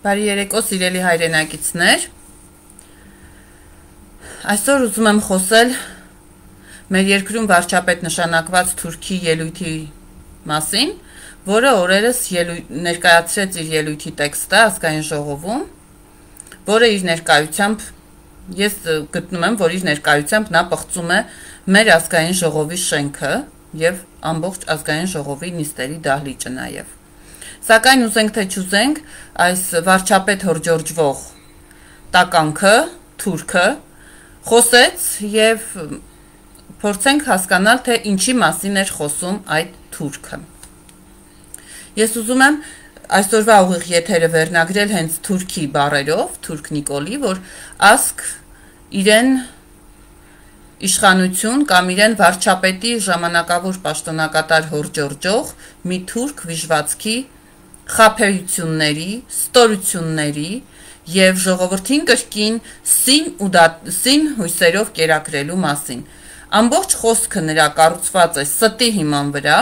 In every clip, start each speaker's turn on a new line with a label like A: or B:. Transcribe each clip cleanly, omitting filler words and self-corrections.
A: Բարի երեկո, սիրելի հայրենակիցներ։ Այսօր ուզում եմ խոսել մեր երկրում վարչապետ նշանակված Թուրքի ելույթի մասին, որը օրերս ներկայացրեց իր ելույթի տեքստը ազգային ժողովում, որը իր ներկայությամբ ես գտնում եմ, որ իր ներկայությամբ նա պղծում է մեր ազգային ժողովի շենքը եւ ամբողջ ազգային ժողովի նիստերի դահլիճը նաեւ։ Սակայն ուզենք թե չուզենք, այս վարչապետ հորջորջվող տականքը, թուրքը, խոսեց եւ փորձենք հասկանալ, թե ինչի մասին էր խոսում այդ թուրքը։ Ես ուզում եմ այսօրվա ուղիղ եթերը վերնագրել հենց թուրքի բառերով, թուրք Նիկոլի, որ ասք իրեն իշխանություն կամ իրեն վարչապետի ժամանակավոր պաշտոնակատար հորջորջող մի թուրք վիժվածքի խաբեությունների, ստորությունների եւ ժողովրդին կրկին սին հույսերով կերակրելու մասին։ Ամբողջ խոսքը նրա կառուցված է ստի հիման վրա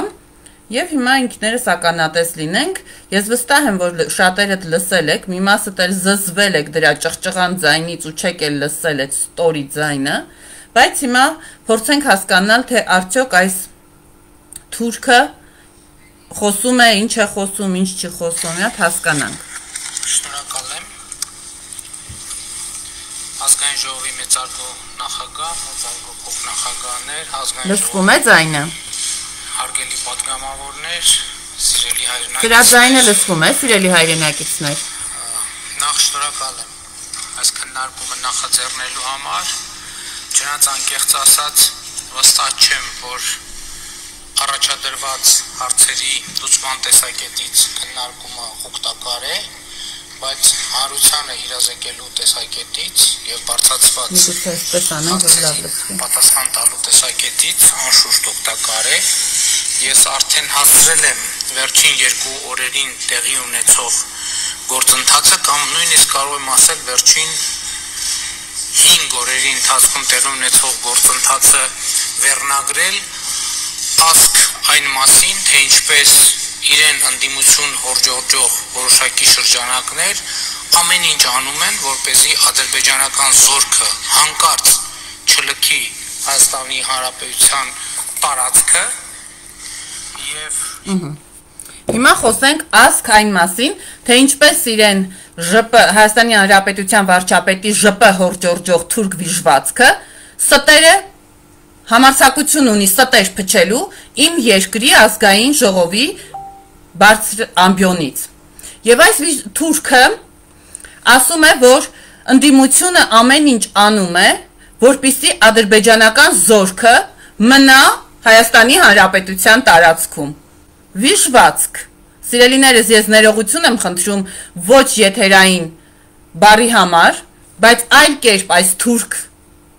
A: եւ հիմա ինքներս ականատես լինենք։ Ես վստահ եմ, որ շատերդ լսել եք, մի մասդ էլ զզվել եք դրա ճղճղան ձայնից ու չեք էլ լսել այդ ստորի ձայնը, բայց հիմա փորձենք հասկանալ, թե արդյոք այս թուրքը խոսում է, ինչ է խոսում, ինչ չի խոսում, հատ հասկանանք։
B: Շնորհակալ եմ։ Ազգային ժողովի մեծարգո նախագահ, մեծարգո փոխնախագահներ, ազգային
A: լսվում է ձայնը։
B: Հարգելի պատգամավորներ, սիրելի հայրենակիցներ։
A: Դրա ձայնը լսվում է, սիրելի հայրենակիցներ։
B: Նախ շնորհակալ եմ այս քննարկումը նախաձեռնելու համար։ Չնայած անկեղծ ասած, վստահ չեմ, որ առաջադրված հարցերի լուծման տեսակետից քննարկումը օգտակար է, բայց հանրությանը իրազեկելու տեսակետից եւ բարձրացված պատասխան տալու տեսակետից անշուշտ օգտակար է։ Ես արդեն հասցրել եմ վերջին 2 օրերին տեղի ունեցող գործընթացը կամ նույնիսկ կարող եմ ասել վերջին 5 օրերի ընթացքում տեղի ունեցող գործընթացը վերնագրել ասք այն մասին, թե ինչպես իրեն ընդդիմություն հորջորջող որոշակի շրջանակներ ամեն ինչ անում են, որպեսզի ադրբեջանական զորքը հանկարծ չլքի Հայաստանի Հանրապետության տարածքը եւ
A: Հիմա խոսենք ասք այն մասին, թե ինչպես իրեն Հայաստանի Հանրապետության վարչապետի ԺՊ հորջորջող թուրք վիժվածքը ստերը համարձակություն ունի ստեր փչելու իմ երկրի ազգային ժողովի բարձր ամբիոնից։ Եվ այս թուրքը ասում է, որ ընդդիմությունը ամեն ինչ անում է, որպեսզի ադրբեջանական զորքը մնա Հայաստանի Հանրապետության տարածքում։ Վիժվածք։ Սիրելիներս, ես ներողություն եմ խնդրում ոչ եթերային բառի համար, բայց այլ կերպ այս թուրք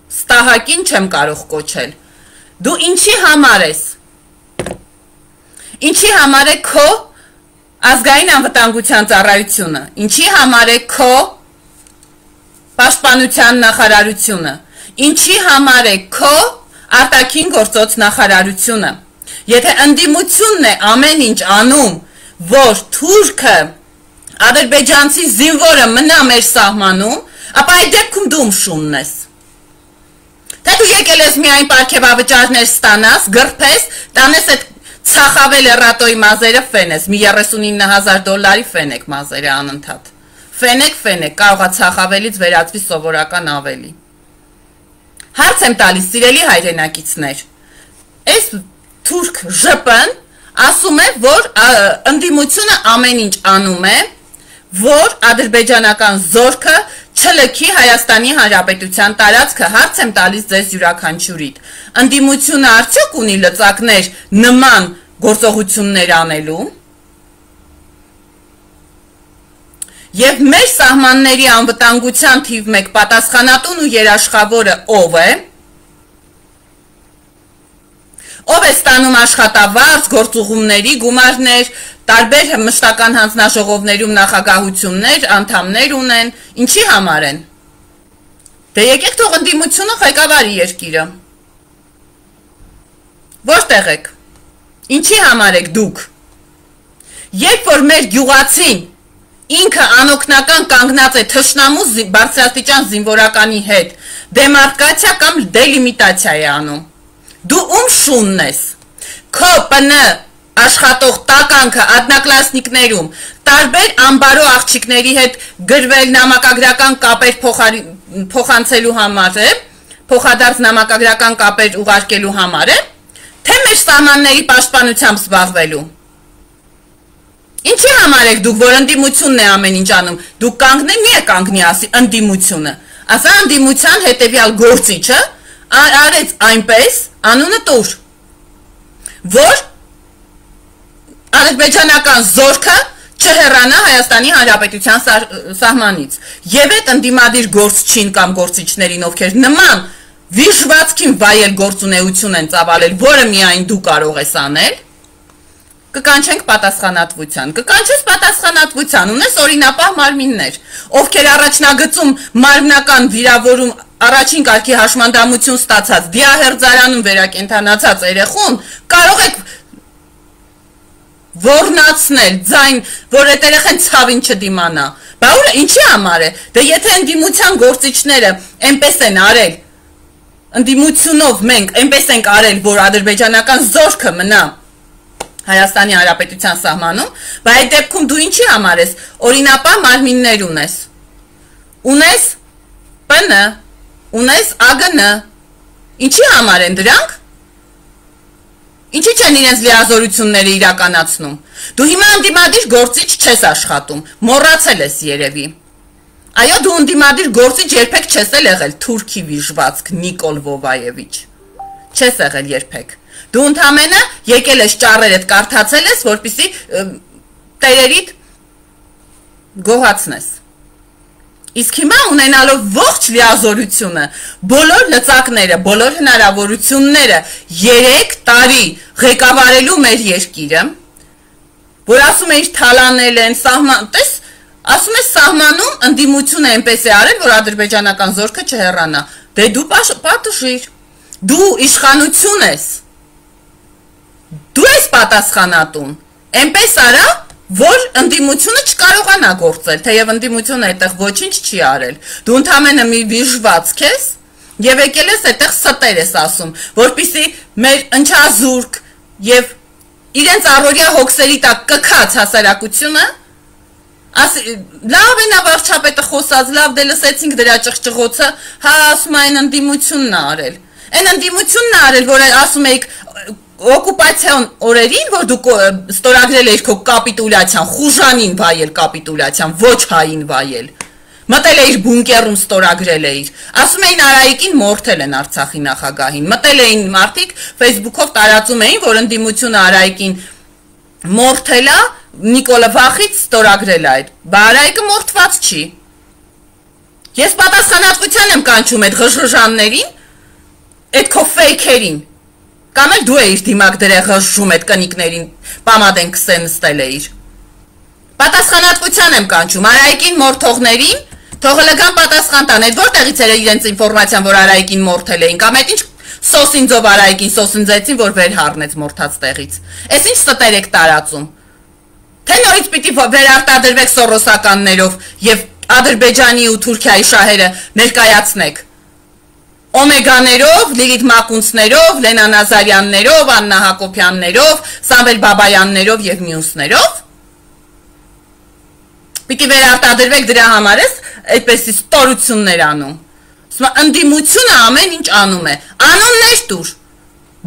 A: ստահակին չեմ կարող կոչել։ Դու ինչի համար ես։ Ինչի համար է քո ազգային անվտանգության ծառայությունը։ Ինչի համար է քո պաշտպանության նախարարությունը։ Ինչի համար է քո արտաքին գործոց նախարարությունը։ Եթե ընդդիմությունն է ամեն ինչ անում, որ թուրքը ադրբեջանցի զինվորը մնա մեր սահմանում, ապա այդ դեպքում դու ումշունն ես։ Թե դու եկել ես միայն պարգևավճարներ ստանաս, գրփես, տանես այդ ցախավել էրատոյի մազերը ֆենես, մի $39,000 ֆենեք մազերը անընդհատ։ Ֆենեք, կարողա ցախավելից վերածվի սովորական ավելի։ Հարց եմ տալիս, սիրելի հայրենակիցներ, այս թուրք ԺՊ-ն ասում է, որ ընդդիմությունը ամեն ինչ անում է, որ ադրբեջանական զորքը չլքի Հայաստանի Հանրապետության տարածքը։ Հարց եմ տալիս ձեզ յուրաքանչյուրիդ։ Ընդդիմությունը արդյոք ունի լծակներ նման գործողություններ անելու։ Եվ մեր սահմանների անվտանգության թիվ 1 պատասխանատուն ու երաշխավորը ով է։ Ով է ստանում աշխատավարձ, գործուղումների գումարներ, տարբեր մշտական հանձնաժողովներում նախագահություններ, անդամներ ունեն, ինչի համար են։ Դե եկեք թող ընդդիմությունը ղեկավարի երկիրը։ Որտեղ եք։ Ինչի համար եք դուք։ Երբ որ մեր գյուղացին ինքը անօգնական կանգնած է թշնամու բարձրաստիճան զինվորականի հետ, դեմարկացիա կամ դելիմիտացիա է անում։ Դու ում շունն ես։ Քո ՊՆ աշխատող տականքը ադնակլասնիկներում տարբեր ամբարո աղջիկների հետ գրվել նամակագրական կապեր փոխանցելու համար է, փոխադարձ նամակագրական կապեր ուղարկելու համար է, թե մեր սահմանների պաշտպանությամբ զբաղվելու։ Ինչի համար եք դուք, որ ընդդիմությունն է ամեն ինչ անում, դուք կանգնեք, մի է կանգնի ասի ընդդիմությունը, ասա ընդդիմության հետևյալ գործիչը արեց այնպես, անունը տուր, որ ադրբեջանական զորքը չհեռանա Հայաստանի Հանրապետության սահմանից, եւ այդ ընդդիմադիր գործչին կամ գործիչներին, ովքեր նման վիժվածքին վայել գործունեություն են ծավալել, որը միայն դու կարող ես անել, կկանչենք պատասխանատվության, կկանչես պատասխանատվության, ունես օրինապահ մարմիններ, ովքեր առաջնագծում մարմնական վիրավորում առաջին կարգի հաշմանդամություն ստացած, դիահերձարանում վերակենդանացած երեխուն, կարող եք ոռնացնել, ձայն, որ այդ երեխան ցավին չդիմանա, բա ուր ինչի համար է, դե եթե ընդդիմության գործիչները այնպես են արել, ընդդիմությունով մենք այնպես ենք արել, որ ադրբեջանական զորքը մնա Հայաստանի Հանրապետության սահմանում, բայց այդ դեպքում դու ինչի համար ես, օրինապահ մարմիններ ունես, ունես ՊՆ, ունես ԱԳՆ, ինչի համար են դրանք, ինչի չեն իրենց լիազորությունները իրականացնում, դու հիմա ընդդիմադիր գործիչ չես աշխատում, մոռացել ես երևի, այո դու ընդդիմադիր գործիչ երբեք չես եղել թուրքի վիժվածք Նիկոլ Վովայևիչ, չես եղել երբեք, դու ընդամենը եկել ես ճառերդ կարդացել ես, որպեսզի տերերիդ գոհացնես։ Իսկ հիմա ունենալով ողջ լիազորությունը, բոլոր լծակները, բոլոր հնարավորությունները 3 տարի ղեկավարելու մեր երկիրը, որ ասում էիր թալանել են, տես, ասում ես սահմանում ընդդիմությունը այնպես է արել, որ ադրբեջանական զորքը չհեռանա, դե դու պատժիր, դու իշխանություն ես, դու ես պատասխանատուն, այնպես արա, որ ընդդիմությունը չկարողանա գործել, թեև ընդդիմությունը այդտեղ ոչինչ չի արել, դու ընդամենը մի վիժվածք ես, եւ եկել ես այդտեղ ստեր ես ասում, որպեսզի մեր ընչազուրկ եւ իրենց առօրյա հոգսերի տակ կքած հասարակությունը, լավ է նա վարչապետը խոսած, լավ դե լսեցինք դրա ճղճղոցը, հա ասում այն ընդդիմությունն է արել, այն ընդդիմությունն է արել, որ ասում էիք օկուպացիոն օրերին, որ դուք ստորագրել էիր քո կապիտուլյացիան, խուժանին վայել կապիտուլյացիան, ոչ հային վայել, մտել էիր բունկերում ստորագրել էիր, ասում էին Արայիկին մորթել են Արցախի նախագահին, մտել էին մարդիկ Facebook-ով տարածում էին, որ ընդդիմությունը Արայիկին մորթել է, Նիկոլը վախից ստորագրել է այդ, բա Արայիկը մորթված չի, ես պատասխանատվության եմ կանչում այդ ղժղժաններին, այդ քո ֆեյքերին, կամ էլ դու էիր դիմակ դրեղ ղժժում այդ կնիկներին, պամադեն կսեն նստել էիր, պատասխանատվության եմ կանչում, Արայիկին մորթողներին, թող լգան պատասխան տան, այդ որտեղից էր իրենց ինֆորմացիան, որ Արայիկին մորթել էին, կամ այդ ինչ սոսինձով Արայիկին սոսինձեցին, որ վեր հառնեց մորթած տեղից, այս ինչ ստեր եք տարածում, թե նորից պիտի վերարտադրվեք սորոսականներով և Ադրբեջանի ու Թուրքիայի շահերը ներկայացնեք, Օմեգաներով, Լիլիթ Մակունցներով, Լենա Նազարյաններով, Աննա Հակոբյաններով, Սամվել Բաբայաններով և մյուսներով, պիտի վերարտադրվեք դրա համար ես այդպեսի ստորություններ անում, ընդդիմությունը ամեն ինչ անում է, անուններ տուր,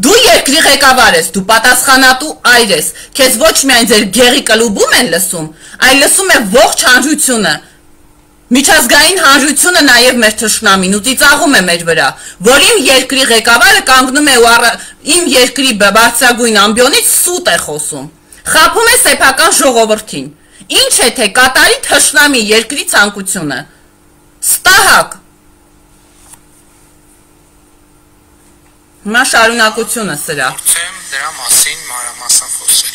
A: դու երկրի ղեկավար ես, դու պատասխանատու այր ես, քեզ ոչ միայն ձեր գեղի կլուբում են լսում, այլ լսում է ողջ հանրությունը, միջազգային հանրությունը նաև մեր թշնամին ու ծիծաղում է մեր վրա, որ իմ երկրի ղեկավարը կանգնում է ու իմ երկրի բարձրագույն ամբիոնից սուտ է խոսում, խաբում է սեփական ժողովրդին, ինչ է թե կատարի թշնամի երկրի ցանկությունը, ստահակ, հիմա շարունակությունը սրա,
B: դրա մասին մանրամասն խոսել,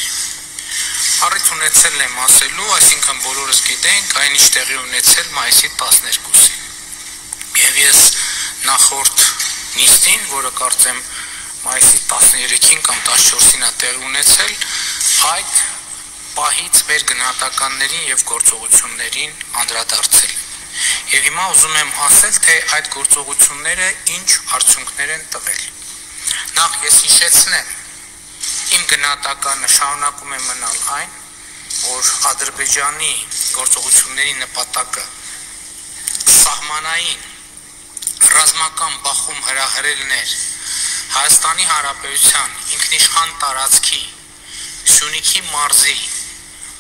B: առիթ ունեցել եմ ասելու, այսինքն բոլորս գիտենք, այն ինչ տեղի ունեցել մայիսի 12-ին, և ես նախորդ նիստին, որը կարծեմ մայիսի 13-ին կամ 14-ին է տեղի ունեցել, այդ պահից մեր գնահատականներին եւ գործողություններին անդրադարձել։ Եվ հիմա ուզում եմ ասել, թե այդ գործողությունները ինչ արդյունքներ են տվել։ Նախ ես հիշեցնեմ, իմ գնահատականը շարունակում է մնալ այն, որ Ադրբեջանի գործողությունների նպատակը սահմանային ռազմական բախում հրահրելն էր Հայաստանի Հանրապետության ինքնիշխան տարածքի Սյունիքի մարզի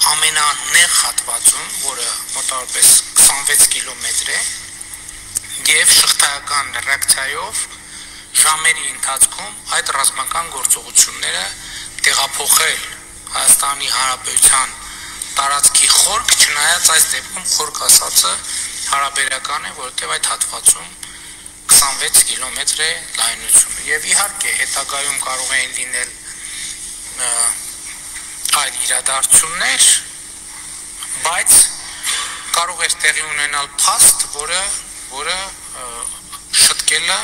B: ամենանեղ հատվածում, որը մոտավորապես 26 կիլոմետր է, եւ շղթայական ռեակցիայով ժամերի ընթացքում այդ ռազմական գործողությունները տեղափոխել Հայաստանի Հանրապետության տարածքի խորք, չնայած այս դեպքում խորք ասածը հարաբերական է, որովհետև այդ հատվածում 26 կիլոմետր է լայնությունը եւ իհարկե հետագայում կարող են լինել այլ իրադարձություններ, բայց կարող էր տեղի ունենալ փաստ, որը շտկելը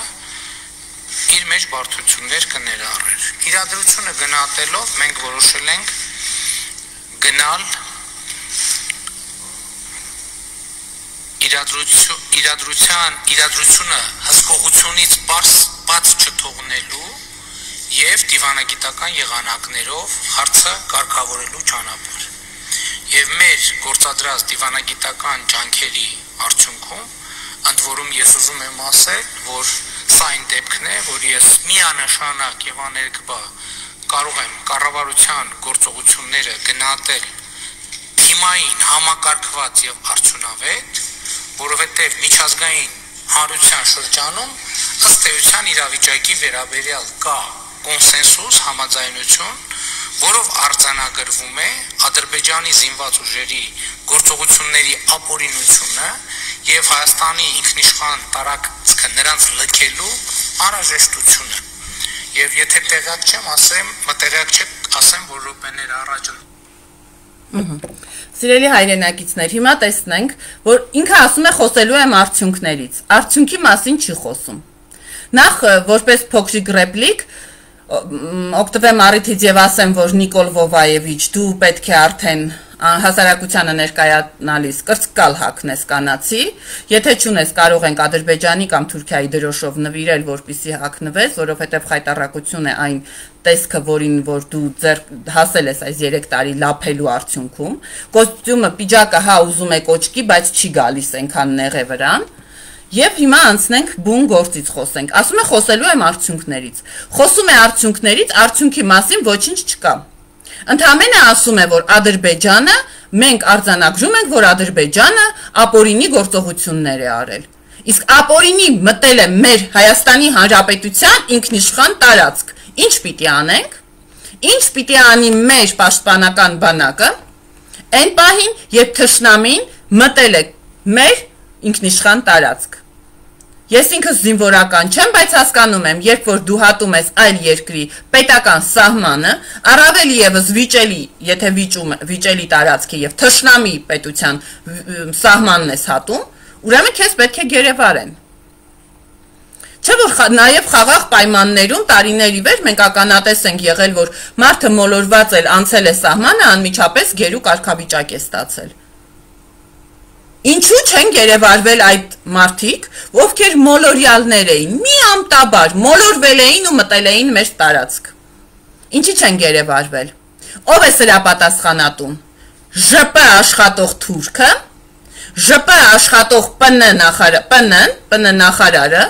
B: իր մեջ բարդություններ կներառեր։ Իրադրությունը գնահատելով մենք որոշել ենք գնալ իրադրությունը հսկողությունից բաց չթողնելու եւ դիվանագիտական եղանակներով հարցը կարգավորելու ճանապարհ։ Եվ մեր գործադրած դիվանագիտական ջանքերի արդյունքում ընդ որում ես ուզում եմ ասել, որ սա այն դեպքն է, որ ես միանշանակ եւ աներկբա կարող եմ կառավարության գործողությունները գնահատել թիմային, համակարգված եւ արդյունավետ, որովհետեւ միջազգային հանրության շրջանում ըստ էության իրավիճակի վերաբերյալ կա կոնսենսուս, համաձայնություն, որով արձանագրվում է Ադրբեջանի զինված ուժերի գործողությունների ապօրինությունը եւ Հայաստանի ինքնիշխան տարածքը նրանց լքելու անհրաժեշտությունը։ Եվ եթե տեղյակ չեմ, ասեմ, որ րոպեներ առաջ
A: Սիրելի հայրենակիցներ, հիմա տեսնենք, որ ինքը ասում է խոսելու եմ արդյունքներից։ Արդյունքի մասին չի խոսում։ Նախ որպես փոքրիկ ռեպլիկ օգտվեմ առիթից եւ ասեմ, որ Նիկոլ Վովայևիչ, դու պետք է արդեն հասարակությանը ներկայանալիս կրծկալ հագնես կանացի, եթե չունես կարող ենք Ադրբեջանի կամ Թուրքիայի դրոշով նվիրել, որպեսզի հագնվես, որովհետեւ խայտառակություն է այն տեսքը, որին որ դու հասել ես այս 3 տարի լափելու արդյունքում, կոստյումը, պիջակը հա ուզում է կոճկի, բայց չի գալիս այնքան նեղ է վրան, եւ հիմա անցնենք բուն գործից խոսենք։ Ասում է խոսելու եմ արդյունքներից։ Խոսում է արդյունքներից, արդյունքի մասին ոչինչ չկա։ Ընդհանրապես ասում է, որ Ադրբեջանը, մենք արձանագրում ենք, որ Ադրբեջանը ապօրինի գործողություններ է արել։ Իսկ ապօրինի մտել է մեր Հայաստանի Հանրապետության ինքնիշխան տարածք։ Ինչ պիտի անենք։ Ինչ պիտի անի մեր պաշտպանական բանակը այն պահին, երբ թշնամին մտել է մեր ինքնիշխան տարածք։ Ես ինքս զինվորական չեմ, բայց հասկանում եմ, երբ որ դու հատում ես այլ երկրի պետական սահմանը, առավել եւս վիճելի, եթե վիճելի տարածքի եւ թշնամի պետության սահմանն ես հատում, ուրեմն քեզ պետք է գերեվարեն։ Չէ՞ որ նաեւ խաղաղ պայմաններում տարիների վեր մենք ականատես ենք եղել, որ մարդը մոլորված էլ անցել է սահմանը, անմիջապես գերու կարգավիճակ է ստացել։ Ինչու չեն գերեվարվել այդ մարդիկ, ովքեր մոլորյալներ էին, միամտաբար մոլորվել էին ու մտել էին մեր տարածք։ Ինչի չեն գերեվարվել։ Ով է սրա պատասխանատուն։ ԺՊ աշխատող թուրքը, ԺՊ աշխատող ՊՆ նախարարը,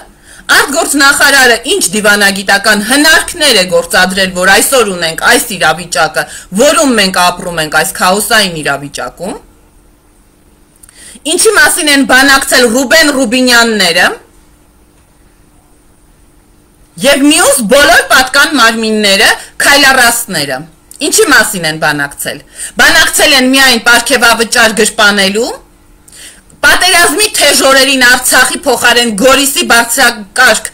A: արտգործնախարարը ինչ դիվանագիտական հնարքներ է գործադրել, որ այսօր ունենք այս իրավիճակը, որում մենք ապրում ենք այս քաոսային իրավիճակում։ Ինչի մասին են բանակցել Ռուբեն Ռուբինյանները եւ մյուս բոլոր պատկան մարմինները, քայլառաստները։ Ինչի մասին են բանակցել։ Բանակցել են միայն պարգևավճար գրպանելու, պատերազմի թեժ օրերին Արցախի փոխարեն Գորիսի բարձրակարգ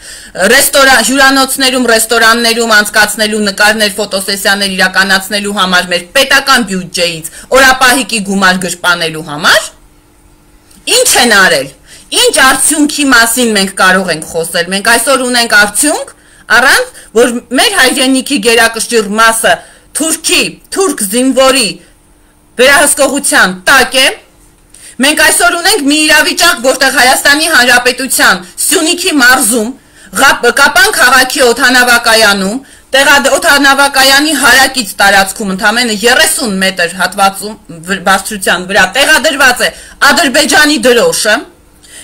A: հյուրանոցներում, ռեստորաններում անցկացնելու նկարներ, ֆոտոսեսիաներ իրականացնելու համար մեր պետական բյուջեից օրապահիկի գումար գրպանելու համար։ Ինչ են արել։ Ինչ արդյունքի մասին մենք կարող ենք խոսել։ Մենք այսօր ունենք արդյունք, առանց որ մեր հայրենիքի գերակշիռ մասը թուրք զինվորի վերահսկողության տակ է։ Մենք այսօր ունենք մի իրավիճակ, որտեղ Հայաստանի Հանրապետության Սյունիքի մարզում, Կապան քաղաքի օդանավակայանում, օդանավակայանի հարակից տարածքում ընդամենը 30 մետր հատվածում բարձրության վրա տեղադրված է Ադրբեջանի դրոշը,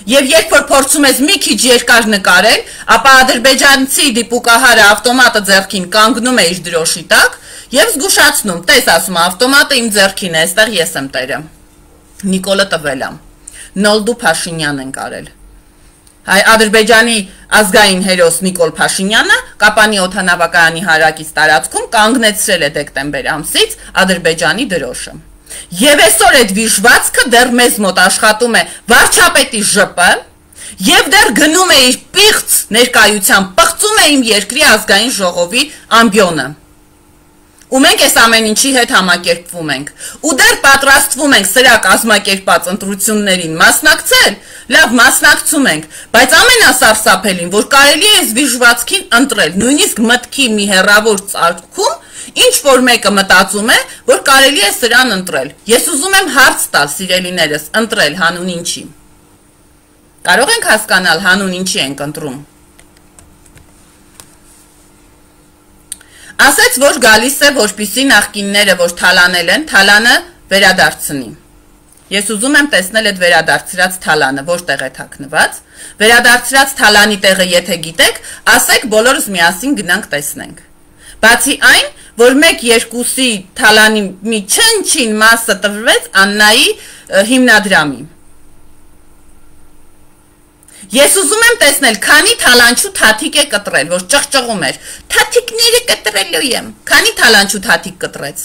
A: եւ երբ որ փորձում ես մի քիչ երկար նկարել, ապա ադրբեջանցի դիպուկահարը ավտոմատը ձեռքին կանգնում է իր դրոշի տակ եւ զգուշացնում, տես ասում ավտոմատը իմ ձեռքին է, այստեղ ես եմ տերը։ Նիկոլը տվել է։ Նոլդու Փաշինյան են կարել։ Ադրբեջանի ազգային հերոս Նիկոլ Փաշինյանը Կապանի օդանավակայանի հարակից տարածքում կանգնեցրել է դեկտեմբեր ամսից Ադրբեջանի դրոշը։ Եվ այսօր այդ վիժվածքը դեռ մեզ մոտ աշխատում է վարչապետի ԺՊ եւ դեռ գնում է իր պիղծ ներկայությամբ պղծում է իմ երկրի ազգային ժողովի ամբիոնը։ Ու մենք այս ամեն ինչի հետ համակերպվում ենք, ու դեռ պատրաստվում ենք սրա կազմակերպած ընտրություններին մասնակցել, լավ մասնակցում ենք, բայց ամենասարսափելին, որ կարելի է այս վիժվածքին ընտրել, նույնիսկ մտքի մի հեռավոր ծագում, ինչ որ մեկը մտածում է, որ կարելի է սրան ընտրել։ Ես ուզում եմ հարց տալ, սիրելիներս, ընտրել հանուն ինչի։ Կարող ենք հասկանալ հանուն ինչի ենք ընտրում։ Ասեց, որ գալիս է, որպեսզի նախկինները, որ թալանել են, թալանը վերադարձնի։ Ես ուզում եմ տեսնել այդ վերադարձրած թալանը, որտեղ է թաքնված։ Վերադարձրած թալանի տեղը եթե գիտեք, ասեք, բոլորս միասին գնանք տեսնենք։ Բացի այն, որ 1-2-ի թալանի մի չնչին մասը տրվեց Աննայի հիմնադրամի։ Ես ուզում եմ տեսնել, քանի թալանչու թաթիկ է կտրել, որ ճղճղում էր, թաթիկները կտրելու եմ, քանի թալանչու թաթիկ կտրեց,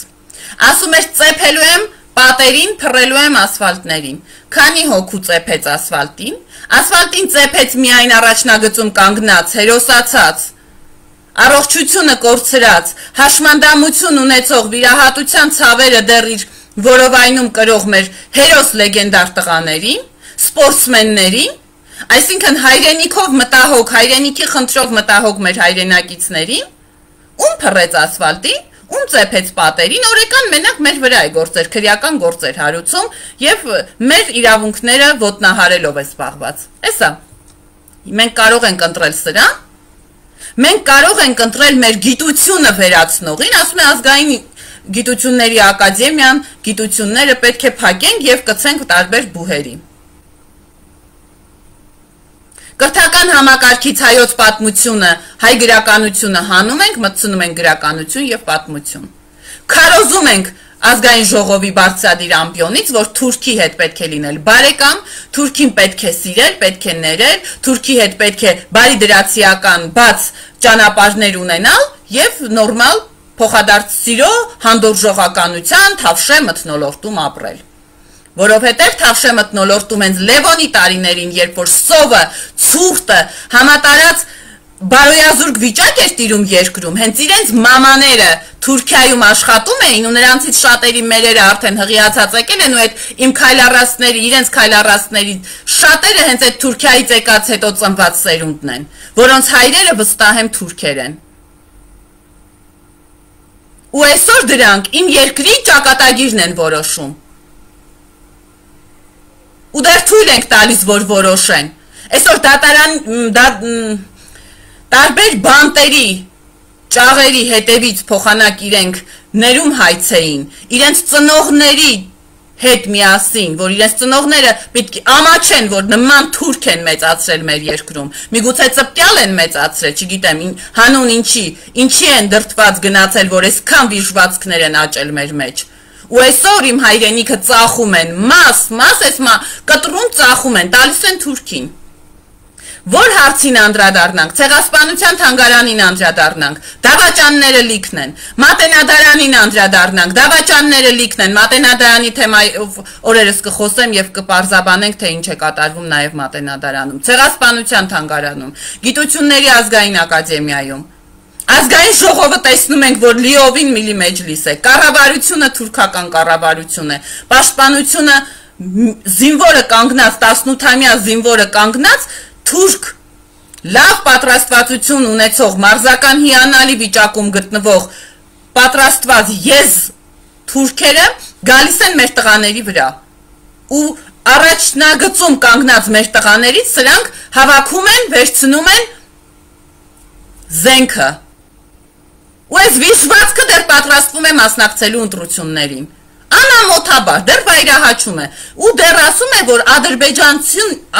A: ասում էր ծեփելու եմ պատերին, փռելու եմ ասֆալտներին, քանի հոգու ծեփեց ասֆալտին ծեփեց միայն առաջնագծում կանգնած, հերոսացած, առողջությունը կորցրած, հաշմանդամություն ունեցող վիրահատության ցավերը դեռ իր որովայնում կրող մեր հերոս լեգենդար տղաներին, սպորտսմեններին, այսինքն հայրենիքով մտահոգ, հայրենիքի խնդրով մտահոգ մեր հայրենակիցներին, ում փռեց ասֆալտին, ում ծեփեց պատերին, օրեկան մենակ մեր վրա է գործեր, քրեական գործեր հարուցում եւ մեր իրավունքները ոտնահարելով է զբաղված։ Էսա։ Մենք կարող ենք ընտրել սրա։ Մենք կարող ենք ընտրել մեր գիտությունը վերացնողին, ասում է ազգային գիտությունների ակադեմիան, գիտությունները պետք է փակենք եւ կցենք տարբեր բուհերի։ Կրթական համակարգից հայոց պատմությունը, հայ գրականությունը հանում ենք, մտցնում ենք գրականություն եւ պատմություն։ Քարոզում ենք ազգային ժողովի բարձրադիր ամբիոնից, որ Թուրքի հետ պետք է լինել բարեկամ, Թուրքին պետք է սիրել, պետք է ներել, Թուրքի հետ պետք է բարիդրացիական բաց ճանապարհներ ունենալ եւ նորմալ փոխադարձ սիրո, հանդուրժողականության, թավշե մթնոլորտում ապրել։ Որովհետև թավշե մթնոլորտում հենց Լևոնի տարիներին, երբ որ սովը, ցուրտը, համատարած բարոյազուրկ վիճակ էր տիրում երկրում, հենց իրենց մամաները Թուրքիայում աշխատում էին ու նրանցից շատերի մերերը արդեն հղիացած եկել են ու այդ իմ քայլառասների, իրենց քայլառասների շատերը հենց այդ Թուրքիայից եկած հետո ծնված սերունդն են, որոնց հայրերը վստահ եմ թուրքեր են։ Ու այսօր դրանք իմ երկրի ճակատագիրն են որոշում։ Ու դեռ թույլ ենք տալիս, որ որոշեն։ Այսօր տարբեր բանտերի, ճաղերի հետևից փոխանակ իրենք ներում հայցեին, իրենց ծնողների հետ միասին, որ իրենց ծնողները պետք է ամաչեն, որ նման թուրք են մեծացրել մեր երկրում, միգուցե ծպտյալ են մեծացրել, չգիտեմ, հանուն ինչի են դրդված գնացել, որ այսքան վիժվածքներ են աճել մեր մեջ։ Ու այսօր իմ հայրենիքը ծախում են, կտրում ծախում են, տալիս են Թուրքին։ Որ հարցին անդրադառնանք, ցեղասպանության թանգարանին անդրադառնանք, դավաճանները լիքն են, մատենադարանին անդրադառնանք, դավաճանները լիքն են, մատենադարանի թեմայով օրերս կխոսեմ եւ կպարզաբանենք, թե ինչ է կատարվում նաեւ մատենադարանում, ցեղասպանության թանգարանում, գիտությունների ազգային ակադեմիայում։ Ազգային ժողովը տեսնում ենք, որ լիովին միլի մեջլիս է, կառավարությունը թուրքական կառավարություն է, պաշտպանությունը զինվորը կանգնած, 18-ամյա զինվորը կանգնած, թուրք լավ պատրաստվածություն ունեցող, մարզական հիանալի վիճակում գտնվող պատրաստված եզ թուրքերը գալիս են մեր տղաների վրա ու առաջնագծում կանգնած մեր տղաներից սրանք հավաքում են, վերցնում են զենքը ու այս վիժվածքը դեռ պատրաստվում է մասնակցելու ընտրություններին անամոթաբար դեռ վայրահաչում է ու դեռ ասում է, որ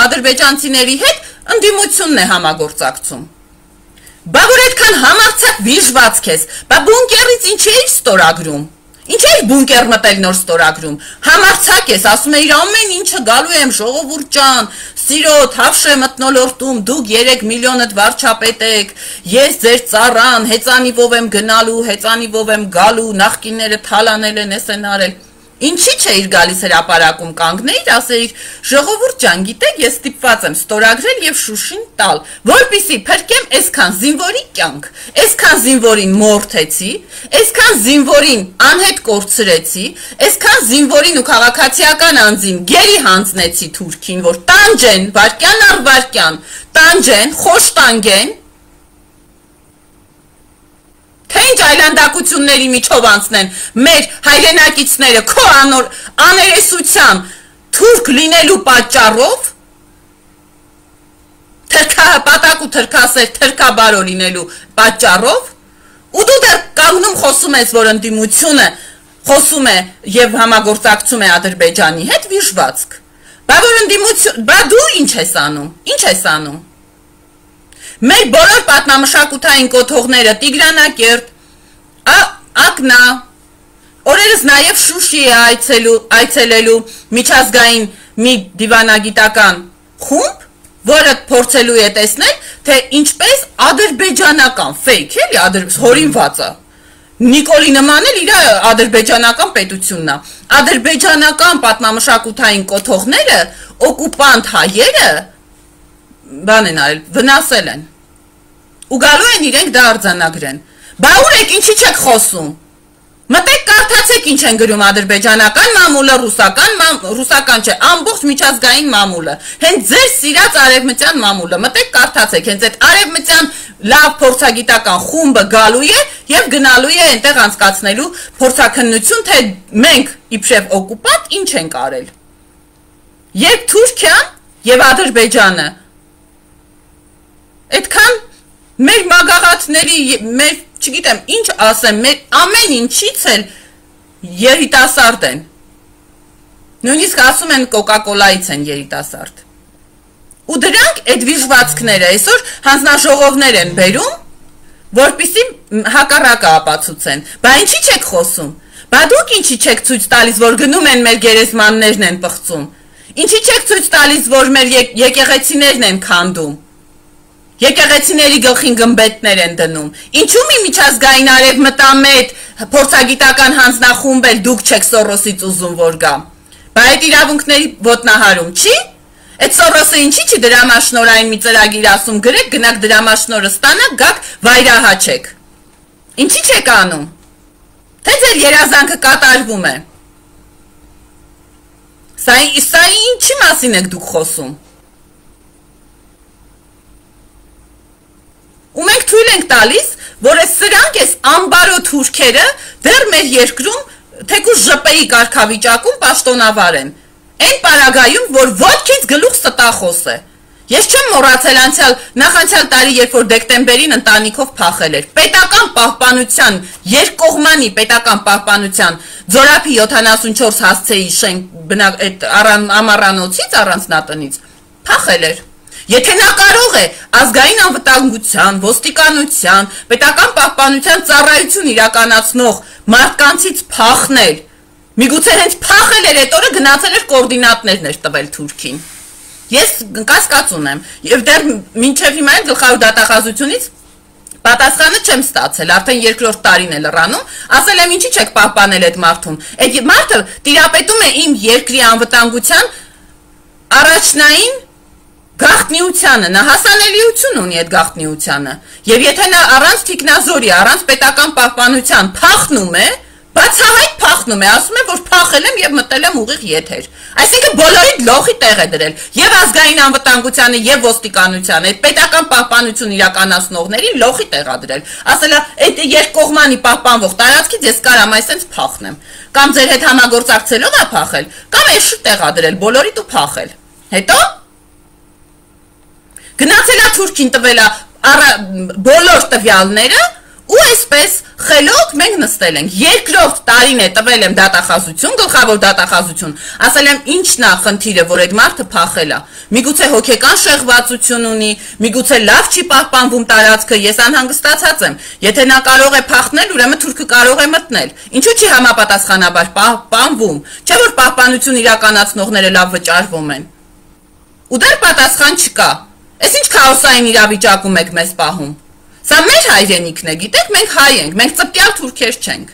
A: ադրբեջանցիների հետ ընդդիմությունն է համագործակցում բա որ այդքան համարձակ վիժված քեզ բա բունկերից ինչ էիր ստորագրում Ինչ էի բունկեր մտել նոր ստորագրում, համարձակ ես, ասում էիր ամեն ինչը գալու եմ ժողովուրդ ջան, սիրո թավշ է մթնոլորտում, դուք 3 միլիոնդ վարչապետ եք, ես ձեր ծառան, հեծանիվով եմ գնալու, հեծանիվով եմ գալու, նախկինները թալանել են, էս են արել, ինչի չէիր գալիս հրապարակում կանգնեիր, ասեիր ժողովուրդ ջան, գիտեք, ես ստիպված եմ ստորագրել եւ Շուշին տալ, որպեսզի փրկեմ այսքան զինվորի կյանք, այսքան զինվորին մորթեցի, այսքան զինվորին անհետ կորցրեցի, այսքան զինվորին ու քաղաքացիական անձին գերի հանձնեցի Թուրքին, որ տանջեն վարքյան առ վարքյան, տանջեն, խոշտանգեն Թե ինչ այլանդակությունների միջով անցնեն մեր հայրենակիցները քո աներեսության թուրք լինելու պատճառով թրքապատակ ու թրքասեր թրքաբարո լինելու պատճառով ու դու դեռ կանգնում խոսում ես, որ ընդդիմությունը խոսում է եւ համագործակցում է Ադրբեջանի հետ վիժվածք բա որ ընդդիմություն բա դու ինչ ես անում Մեր բոլոր պատմամշակութային կոթողները Տիգրանակերտ, Ակնա, օրերս նաև Շուշի է այցելելու միջազգային մի դիվանագիտական խումբ, որը փորձելու է տեսնել, թե ինչպես ադրբեջանական ֆեյք էլի հորինվածը Նիկոլի նման էլ իր ադրբեջանական պետությունն է։ Ադրբեջանական պատմամշակութային կոթողները օկուպանտ հայերը բան են արել, վնասել են։ Ու գալու են իրենք դա արձանագրեն։ Բա ուր եք ինչի չեք խոսում։ Մտեք կարդացեք ինչ են գրում ադրբեջանական մամուլը, ռուսական չէ, ամբողջ միջազգային մամուլը։ Հենց ձեր սիրած արևմտյան մամուլը։ Մտեք կարդացեք, հենց այդ արևմտյան լավ փորձագիտական խումբը գալու է եւ գնալու է այնտեղ անցկացնելու փորձաքննություն, թե մենք իբրև օկուպանտ ինչ ենք արել։ Երբ Թուրքիան եւ Ադրբեջանը Այդքան մեր մագաղատների, մեր, չգիտեմ, ինչ ասեմ, մեր ամեն ինչից էլ երիտասարդ են։ Նույնիսկ ասում են կոկա-կոլայից են երիտասարդ։ Ու դրանք այդ վիժվածքները այսօր հանձնաժողովներ են բերում, որպեսզի հակառակը ապացուցեն։ Բա ինչի չեք խոսում։ Բա դուք ինչի չեք ցույց տալիս, որ գնում են մեր գերեզմաններն են պղծում։ Ինչի չեք ցույց տալիս, որ մեր եկեղեցիներն են քանդում։ Եկեղեցիների գլխին գմբեթներ են դնում։ Ինչու՞ մի միջազգային արևմտամետ փորձագիտական հանձնախումբ էլ դուք չեք Սորոսից ուզում որ գա։ Բա այդ իրավունքների ոտնահարում չի։ Այդ Սորոսը ինչի՞ չի դրամաշնորային մի ծրագիր ասում գրեք, գնաք դրամաշնորը ստանաք, գաք վայրահաչեք։ Ինչի՞ չեք անում։ Թե ձեր երազանքը կատարվում է։ Սա ինչի մասին եք դուք խոսում։ Ու մենք թույլ ենք տալիս, որ այս սրանք այս ամբարո թուրքերը դեռ մեր երկրում թեկուզ ԺՊ-ի կարգավիճակում պաշտոնավար են։ Այն պարագայում, որ ոչքից գլուխ ստախոս է։ Ես չեմ մոռացել նախանցյալ տարի, երբ որ դեկտեմբերին ընտանիքով փախել էր։ Պետական պահպանության, երկկողմանի պետական պահպանության Ձորափի 74 հասցեի շենք ամառանոցից առանձնատնից փախել էր։ Եթե նա կարող է ազգային անվտանգության, ոստիկանության, պետական պահպանության ծառայություն իրականացնող մարդկանցից փախնել, միգուցե հենց փախել էր այդ օրը գնացել էր կոորդինատներն էր տվել Թուրքին։ Ես կասկած ունեմ, եւ դեռ մինչեւ հիմա այն գլխավոր դատախազությունից պատասխանը չեմ ստացել, արդեն երկրորդ տարին է լրանում, ասել եմ ինչի՞ չեք պահպանել այդ մարդուն։ Այդ մարդը տիրապետում է իմ երկրի անվտանգության առաջնային գաղտնիությանը, նա հասանելիություն ունի այդ գաղտնիությանը, եւ եթե նա առանց թիկնազորի, առանց պետական պահպանության փախնում է, Բացահայտ փախնում է, ասում է, որ փախել եմ եւ մտել եմ ուղիղ եթեր։ Այսինքն բոլորին լոխի տեղ է դրել, եւ ազգային անվտանգությանը, եւ ոստիկանությանը, այդ պետական պահպանություն իրականացնողներին լոխի տեղ է դրել։ Ասելա, այդ երկկողմանի պահպանվող տարածքից ես կարամ այսպես փախնեմ։ Կամ ձեր հետ համագործակցելով է փախել, կամ էշի տեղ է դրել բոլորիդ ու փախել։ Հետո գնացել է Թուրքին տվել է բոլոր տվյալները ու այսպես խելոք մենք նստել ենք։ Երկրորդ տարին է տվել եմ դատախազություն, գլխավոր դատախազություն, ասել եմ ինչն է խնդիրը, որ այդ մարդը փախել է։ Միգուցե հոգեկան շեղվածություն ունի, միգուցե լավ չի պահպանվում տարածքը, ես անհանգստացած եմ։ Եթե նա կարող է փախնել, ուրեմն թուրքը կարող է մտնել։ Ինչու՞ չի համապատասխանաբար պահպանվում։ Չէ՞ որ պահպանություն իրականացնողները լավ վճարվում են։ Ու դեռ պատասխան չկա։ Այս ինչ քաոսային իրավիճակում եք մեզ պահում։ Սա մեր հայրենիքն է, գիտեք, մենք հայ ենք, մենք ծպտյալ թուրքեր չենք։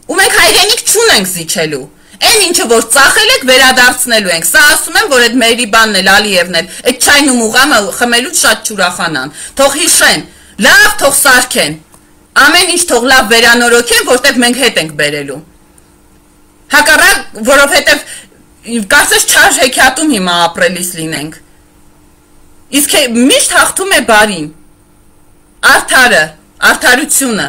A: Ու մենք հայրենիք չունենք զիջելու։ Այն ինչը որ ծախել եք վերադարձնելու ենք։ Սա ասում եմ, որ այդ Մերիբանն էլ Ալիևն էլ այդ չայն ու մուղամը խմելուց շատ չուրախանան։ Թող հիշեն, լավ թող սարքեն։ Ամեն ինչ թող լավ վերանորոգեն, որտեղ մենք հետ ենք բերելու։ Հակառակ, որովհետև կարծես չար հեքիաթում հիմա ապրելիս լինենք։ Իսկ միշտ հաղթում է բարին։ Արդարը, արդարությունը,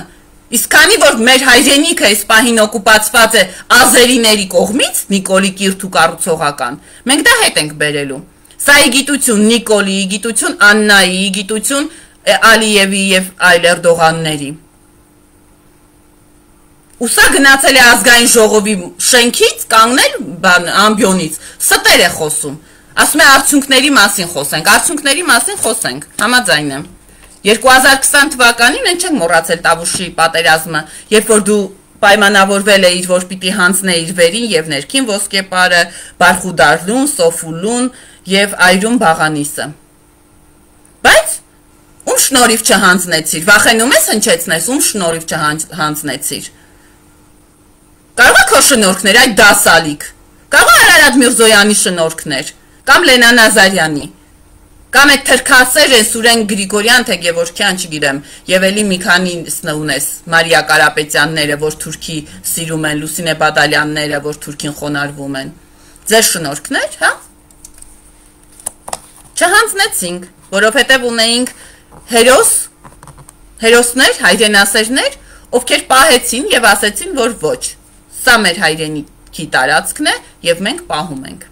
A: իսկ քանի որ մեր հայրենիքը այս պահին օկուպացված է ազերիների կողմից, Նիկոլի Կիրթու կառուցողական, մենք դա հետ ենք բերելու։ Սա գիտություն Նիկոլիի, գիտություն Աննայի, գիտություն Ալիևի եւ այլ Էրդողանների։ Ու սա գնացել է ազգային ժողովի շենքից, կանգնել ամբիոնից, ստեր է խոսում։ Ասում է արդյունքների մասին խոսենք, արդյունքների մասին խոսենք, համաձայն եմ։ 2020 թվականին են չենք մոռացել Տավուշի պատերազմը, երբ որ դու պայմանավորվել էիր, որ պիտի հանձնեիր վերին եւ ներքին ոսկեպարը, Բարխուդարլուն, Սոֆուլուն եւ Այրուն Բաղանիսը։ Բայց ում շնորհիվ չհանձնեցիր, վախենում ես հնչեցնես, ում շնորհիվ չհանձնեցիր։ Կարող է քո շնորհքներ այդ դասալիկ, կարող է Արարատ Միրզոյանի շնորհքներ, կամ Լենա Նազարյանի, կամ այդ թրքասեր են Սուրեն Գրիգորյան, թե Գևորգյան, չգիտեմ, եւ էլի մի քանի ունես Մարիա Կարապետյանները, որ թուրքի սիրում են, Լուսինե Բադալյանները, որ թուրքին խոնարհվում են։ Ձեր շնորհքներ, հա? Չհանձնեցինք, որովհետեւ ունեինք հերոսներ, հայրենասերներ, ովքեր պահեցին եւ ասեցին, որ ոչ, սա մեր հայրենիքի տարածքն է եւ մենք պահում ենք։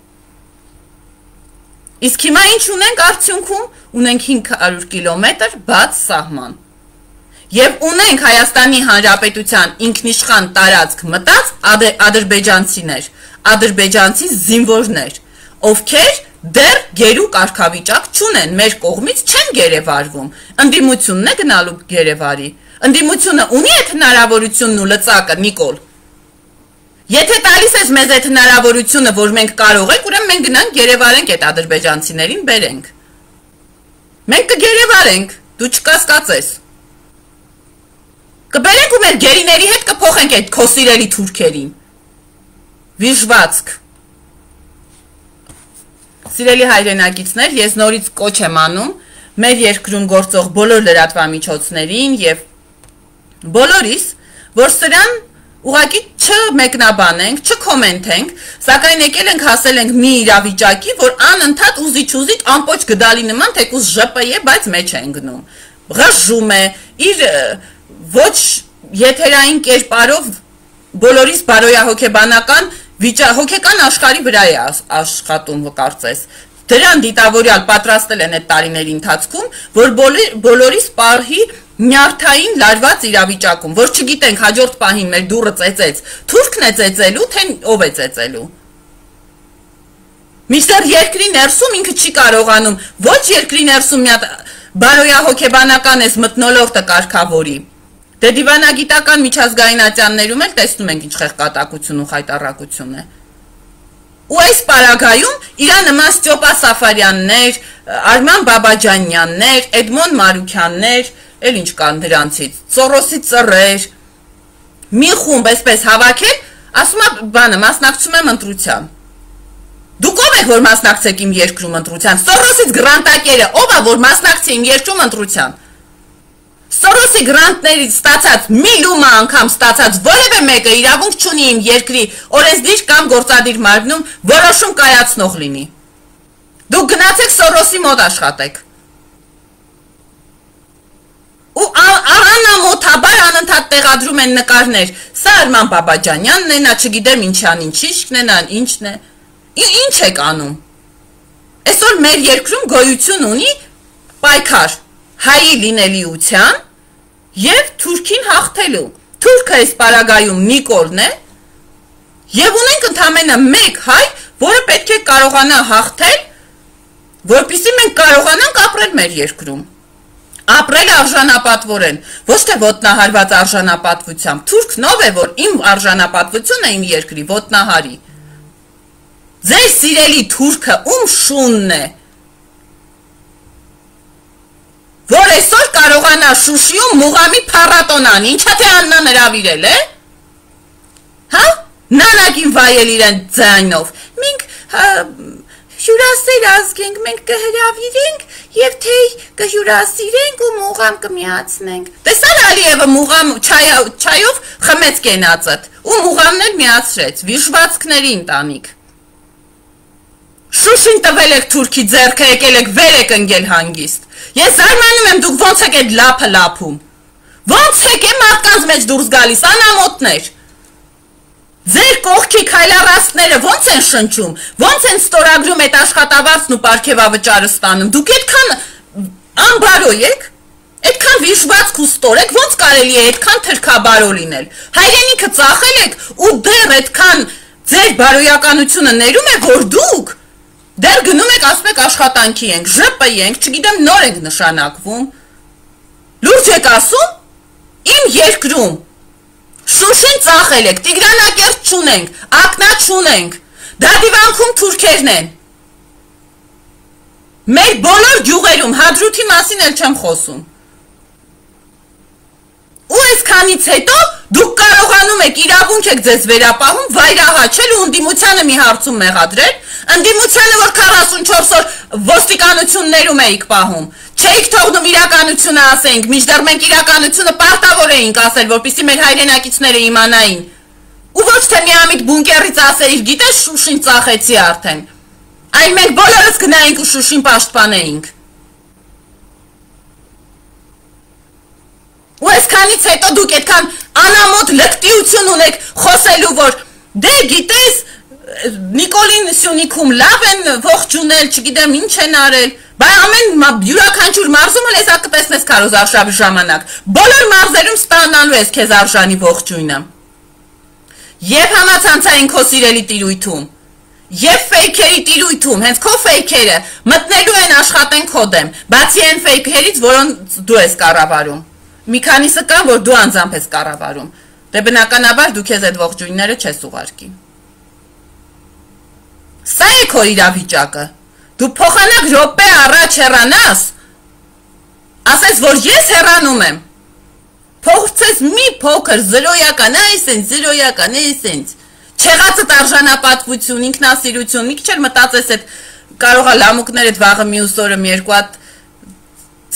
A: Իսկ հիմա ինչ ունենք արդյունքում, ունենք 500 կիլոմետր բաց սահման։ Եվ ունենք Հայաստանի Հանրապետության ինքնիշխան տարածք մտած ադրբեջանցիներ, ադրբեջանցի զինվորներ, ովքեր դեռ գերու կարգավիճակ չունեն, մեր կողմից չեն գերեվարվում, ընդդիմությունն է գնալու գերեվարի, ընդդիմությունը ունի այդ հնարավորությունն ու լծակը, Նիկոլ։ Եթե տալիս ես մեզ այդ հնարավորությունը, որ մենք կարող ենք, ուրեմն մենք գնանք գերեվարենք այդ ադրբեջանցիներին բերենք։ Մենք կգերեվարենք, դու չկասկածես։ Կբերենք ու մեր գերիների հետ կփոխենք այդ քո սիրելի թուրքերին։ Վիժվածք։ Սիրելի հայրենակիցներ, ես նորից կոչ եմ անում մեր երկրում գործող բոլոր լրատվամիջոցներին եւ բոլորիս, որ սրան ուղղակի չմեկնաբանենք, չկոմենտենք, սակայն եկել ենք հասել ենք մի իրավիճակի, որ անընդհատ ուզիչ ամպոչ գդալի նման թեկուզ ԺՊԵ, բայց մեջ է ընկնում։ Ղժում է, իր ոչ եթերային կերպարով բոլորիս բարոյահոգեբանական հոգեկան աշխարհի վրա է աշխատում կարծես։ Դրան դիտավորյալ պատրաստել են այդ տարիների ընթացքում, որ բոլորիս պահի նյարդային լարված իրավիճակում, որ չգիտենք հաջորդ պահին մեր դուռը ծեծեց, թուրքն է ծեծելու, թե ով է ծեծելու։ Մինչդեռ երկրի ներսում ինքը չի կարողանում, ոչ երկրի ներսում մի հատ բարոյահոգեբանական էս մթնոլորտը կարգավորի։ Դե դիվանագիտական միջազգայնատյաններում էլ տեսնում ենք ինչ խեղկատակություն ու խայտառակություն է։ Ու այս պարագայում իրա նման Ստյոպա Սաֆարյաններ, Արման Բաբաջանյաններ, Էդմոն Մարուքյաններ, էլ ինչ կան դրանցից, Սորոսի ծռեր, մի խումբ այսպես հավաքել, ասում է բանը, մասնակցում եմ ընտրության։ Դուք ով եք, որ մասնակցեք իմ երկրում ընտրության, Սորոսից գրանտակերը, ով է, որ մասնակցի իմ երկրում ընտրության։ Սորոսի գրանտներից ստացած մի լումա անգամ ստացած որևէ մեկը իրավունք չունի իմ երկրի օրենսդիր կամ գործադիր մարմնում որոշում կայացնող լինի։ Դուք գնացեք Սորոսի մոտ աշխատեք։ Ու անամոթաբար անընդհատ տեղադրում են նկարներ։ Սա Արման Բաբաջանյանն է, նա չգիտեմ ինչան ինչիշկն է, նա ինչն է։ Ինչ եք անում։ Այսօր մեր երկրում գոյություն ունի պայքար հայի լինելիության և թուրքին հաղթելու։ Թուրքը այս պարագայում Նիկոլն է և ունենք ընդամենը մեկ հայ, որը պետք է կարողանա հաղթել, որպեսզի մենք կարողանանք ապրել մեր երկրում։ Ապրել արժանապատվորեն, ոչ թե ոտնահարված արժանապատվությամբ։ Թուրքն ով է, որ իմ արժանապատվությունը իմ երկրի ոտնահարի։ Ձեր սիրելի թուրքը ում շունն է, որ այսօր կարողանա Շուշիում Մուղամի փառատոնան, ինչա թե Աննան հրավիրել է, հա, նանակին վայել իրեն ձայնով, մենք հյուրասեր ազգ ենք, մենք կհրավիրենք և թե կհյուրասիրենք ու Մուղամ կմիացնենք, տեսար Ալիևը Մուղամ չայով խմեց կենացըտ, ու Մուղամն էլ միացրեց, վիշվածքների ընտանիք, Շուշին տվել եք թուրքի ձեռքը, եկել եք վեր եք ընկել հանգիստ, ես զարմանում եմ դուք ոնց եք այդ լափը լափում, ոնց եք է մարդկանց մեջ դուրս գալիս, անամոթներ, ձեր կողքի քայլառաստները ոնց են շնչում, ոնց են ստորագրում այդ աշխատավարձն ու պարգևավճարը ստանում, դուք այդքան անբարո եք, այդքան վիժվածք ու ստոր եք, ոնց կարելի է այդքան թրքաբարո լինել, հայրենիքը ծախել եք ու դեռ այդքան ձեր բարոյականությունը ներում է, որ դուք դեռ գնում եք ասում եք աշխատանքի ենք, ԺՊ ենք, չգիտեմ նոր ենք նշանակվում, լուրջ եք ասում, իմ երկրում, Շուշին ծախել եք, Տիգրանակերտ չունենք, Ակնա չունենք, Դադիվանքում թուրքերն են, մեր բոլոր գյուղերում, Հադրութի մասին էլ չեմ խոսում, ու այսքանից հետո դուք կարողանում եք իրավունք եք ձեզ վերապահում վայրահաչել ու ընդդիմությանը մի հարցում մեղադրել, ընդդիմությանը որ 44 օր ոստիկանություններում էիք պահում, չէիք թողնում իրականությունը ասենք, մինչդեռ մենք իրականությունը պարտավոր էինք ասել, որպեսզի մեր հայրենակիցները իմանային, ու ոչ թե միամիտ բունկերից ասեիր, գիտես Շուշին ծախեցի արդեն, այլ մենք բոլորս գնայինք ու Շուշին պաշտպանեինք։ Ու այսքանից հետո դուք այդքան անամոթ լկտիություն ունեք խոսելու, որ դե գիտես Նիկոլին Սյունիքում լավ են ողջունել, չգիտեմ ինչ են արել, բայ ամեն յուրաքանչյուր մարզումը լեզա կտեսնես Քարոզ Արշավի ժամանակ, բոլոր մարզերում ստանալու ես քեզ արժանի ողջույնը։ Եվ համացանցային քո սիրելի տիրույթում, եւ ֆեյքերի տիրույթում, հենց քո ֆեյքերը մտնելու են աշխատեն քո դեմ, բացի այն ֆեյքերից, որոնց դու ես կառավարում։ Մի քանիսը կան, որ դու անձամբ ես կառավարում, դե բնականաբար դու քեզ այդ ողջույնները չես ուղարկի։ Սա է քո իրավիճակը, դու փոխանակ րոպե առաջ հեռանաս, ասես, որ ես հեռանում եմ, փոխցես մի փոքր զրոյական, զրոյական, չեղածդ արժանապատվություն, ինքնասիրություն, մի քիչ էլ մտածես այդ կարող է լամուկներ այդ վաղը մյուս օրը մի երկու հատ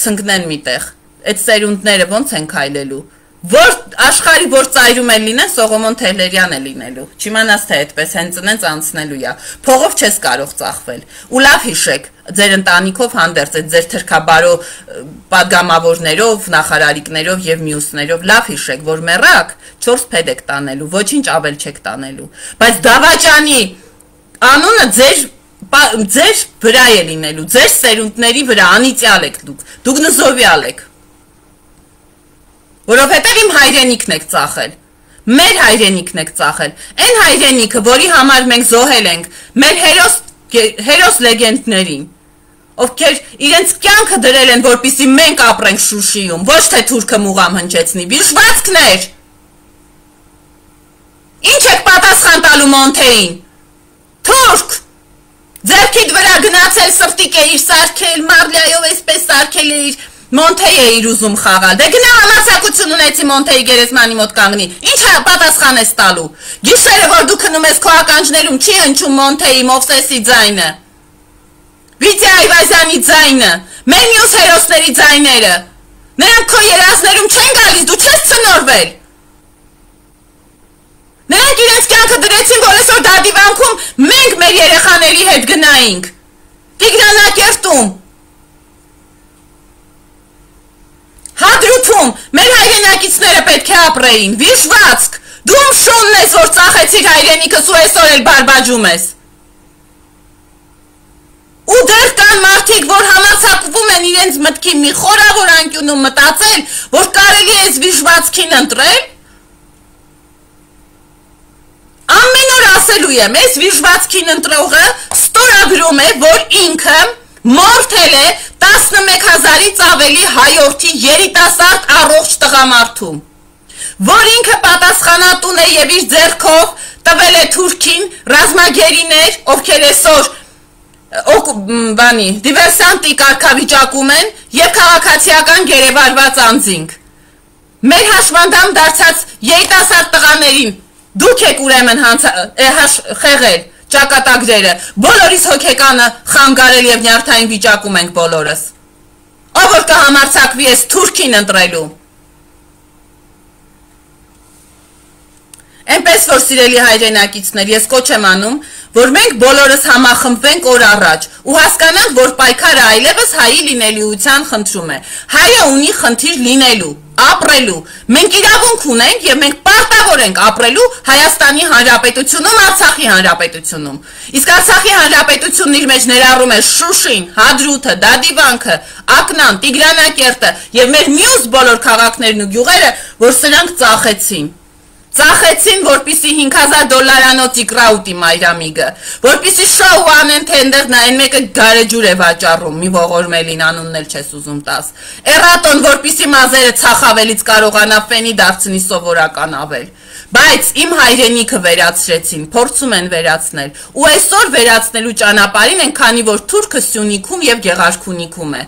A: ցնկնեն միտեղ, այդ սերունդները ոնց են քայլելու, որ աշխարհի որ ծայրում է լինեն, Սողոմոն Թեհլերյան է լինելու, չիմանաս թե այդպես հենց ծնենց անցնելու է, փողով չես կարող ծախվել, ու լավ հիշեք, ձեր ընտանիքով հանդերձ այդ ձեր թրքաբարո պատգամավորներով, նախարարիկներով եւ մյուսներով, լավ հիշեք, որ մեռակ 4 փեդ եք տանելու, ոչինչ ավել չեք տանելու, բայց Դավաճանի անունը ձեր վրա է լինելու, ձեր սերունդների վրա անիծյալ եք դուք նզովյալ եք, որովհետև իմ հայրենիքն եք ծախել, մեր հայրենիքն եք ծախել, այն հայրենիքը, որի համար մենք զոհել ենք, մեր հերոս լեգենդներին, ովքեր իրենց կյանքը դրել են, որպեսզի մենք ապրենք Շուշիում, ոչ թե թուրքը մուղամ հնչեցնի, վիժվածքներ, ինչ եք պատասխան տալու Մոնթեին, թուրք, ձեռքիդ վրա գնացել սրտիկ էիր սարքել, Մարլիայով այսպես սարքել էիր, Մոնթեյ է իր ուզում խաղալ, դե գնա համասակություն ունեցի Մոնթեյի գերեզմանի մոտ կանգնի, ինչ պատասխան ես տալու, գիշերը որ դու քնում ես քո ականջներում չի հնչում Մոնթեյի, Մովսեսի ձայնը, Վիտյա Այվազյանի ձայնը, մեր մյուս հերոսների ձայները, Նրանք քո երազներում չեն գալիս, դու չես ցնորվել։ Նրանք իրենց կյանքը դրեցին, որ այսօր դադիվանքում մենք մեր երեխաների հետ գնայինք։ Տիգրանակերտում, Հադրութում մեր հայրենակիցները պետք է ապրեին, վիժվածք, դու շունն ես, որ ծախեցիր հայրենիքս ու այսօր էլ բարբաջում ես։ Ու դեռ կան մարդիկ, որ համացակվում են իրենց մտքի մի խորավոր անկյունում մտածել, որ կարելի է այս վիժվածքին ընտրել։ Ամեն օր ասելու եմ, այս վիժվածքին ընտրողը ստորագրում է, որ ինքը մորթել է 11,000-ից ավելի հայորդի երիտասարդ առողջ տղամարդու, որ ինքը պատասխանատուն է եւ իր ձեռքով տվել է Թուրքին ռազմագերիներ, ովքեր այսօր դիվերսանտի կարգավիճակում են եւ քաղաքացիական գերեվարված անձինք։ Մեր հաշվանդամ դարձած երիտասարդ տղաներին դուք եք ուրեմն խեղել ճակատագրերը, բոլորիս հոգեկանը խանգարել եւ նյարդային վիճակում ենք բոլորս։ Ով որ կհամարձակվի ես Թուրքին ընտրելու։ Այնպես որ սիրելի հայրենակիցներ, ես կոչ եմ անում, որ մենք բոլորս համախմբվենք օր առաջ ու հասկանանք, որ պայքարը այլևս հայի լինելիության խնդրում է։ Հայը ունի խնդիր լինելու, ապրելու։ Մենք իրավունք ունենք եւ մենք պարտավոր ենք ապրելու Հայաստանի Հանրապետությունում, Արցախի Հանրապետությունում։ Իսկ Արցախի Հանրապետությունն իր մեջ ներառում է Շուշին, Հադրութը, Դադիվանքը, Ակնան, Տիգրանակերտը եւ մեր մյուս բոլոր քաղաքներն ու գյուղերը, որ սրանք ծախեցին, որպիսի $5,000 իկրա ուտի մայրամիգը, որպիսի շոու անեն, թե ընդեղ նայեն մեկը գարեջուր է վաճառում, մի ողորմելին անունն էլ չես ուզում տաս, էրատոն, որպիսի մազերը ցախավելից կարողանա ֆենի դարձնի սովորական ավել, բայց իմ հայրենիքը վերացրեցին, փորձում են վերացնել, ու այսօր վերացնելու ճանապարհին են, քանի որ Թուրքը Սյունիքում եւ Գեղարքունիքում է։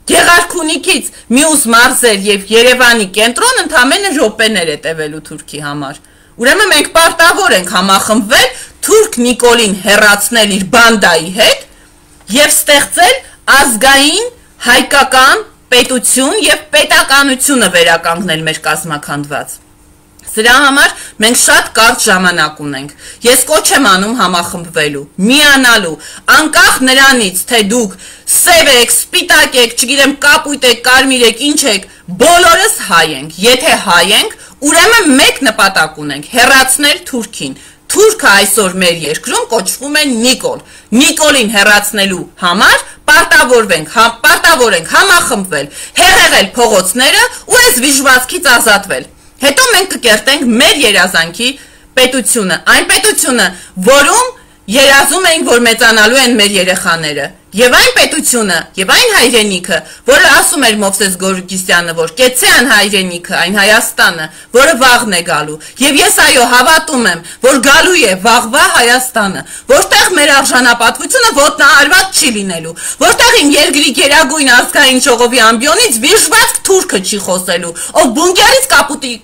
A: Գեղարքունիքից մյուս մարզեր եւ Երևանի կենտրոն ընդամենը րոպեներ է տևելու Թուրքի համար։ Ուրեմն մենք պարտավոր ենք համախմբվել Թուրք Նիկոլին հեռացնել իր բանդայի հետ եւ ստեղծել ազգային հայկական պետություն եւ պետականությունը վերականգնել մեր կազմաքանդված։ Սրա համար մենք շատ կարճ ժամանակ ունենք։ Ես կոչ եմ անում համախմբվելու, միանալու, անկախ նրանից, թե դուք սև եք, սպիտակ եք, չգիտեմ, կապույտ եք, կարմիր եք, ինչ եք, բոլորս հայ ենք։ Եթե հայ ենք, ուրեմն մեկ նպատակ ունենք՝ հեռացնել Թուրքին։ Թուրքը այսօր մեր երկրում կոչվում է Նիկոլ։ Նիկոլին հեռացնելու համար պարտավոր ենք համախմբվել, հեղեղել փողոցները ու այս վիժվածքից ազատվել։ Հետո մենք կկերտենք մեր երազանքի պետությունը, այն պետությունը, որում երազում ենք, որ մեծանալու են մեր երեխաները, եւ այն պետությունը, եւ այն հայրենիքը, որը ասում էր Մովսես Գորգիսյանը, որ կեցցեան հայրենիքը, այն Հայաստանը, որը վաղն է գալու, եւ ես այո հավատում եմ, որ գալու է վաղվա Հայաստանը, որտեղ մեր արժանապատվությունը ոտնահարված չի լինելու, որտեղ իմ երկրի գերագույն ազգային ժողովի ամբիոնից վիժվածք Թուրքը չի խոսելու, ով բունկերից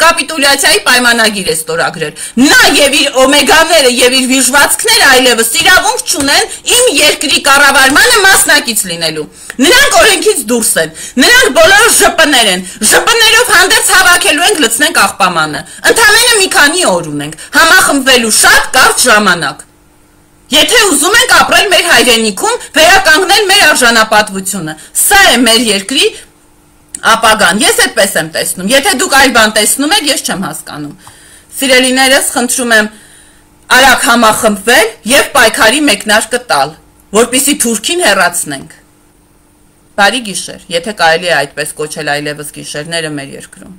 A: կապիտուլյացիայի պայմանագիր է ստորագրել։ Նա եւ իր օմեգաները եւ իր վիժվածքները այլևս իրավունք չունեն իմ երկրի կառավարմանը մասնակից լինելու։ Նրանք օրենքից դուրս են, նրանք բոլորը ԺՊ-ներ են, ԺՊ-ներով հանդերձ հավաքելու ենք լցնենք աղբամանը։ Ընդամենը մի քանի օր ունենք, համախմբվելու շատ կարճ ժամանակ։ Եթե ուզում ենք ապրել մեր հայրենիքում, վերականգնել մեր արժանապատվությունը, սա է մեր երկրի ապագան։ Ես այդպես եմ տեսնում։ Եթե դուք այլ բան տեսնում եք, ես չեմ հասկանում։ Սիրելիներս, խնդրում եմ արագ համախմբվել եւ պայքարի մեկնարկը տալ, որպեսզի Թուրքին հեռացնենք։ Բարի գիշեր, եթե կարելի է այդպես կոչել այլևս գիշերները մեր երկրում։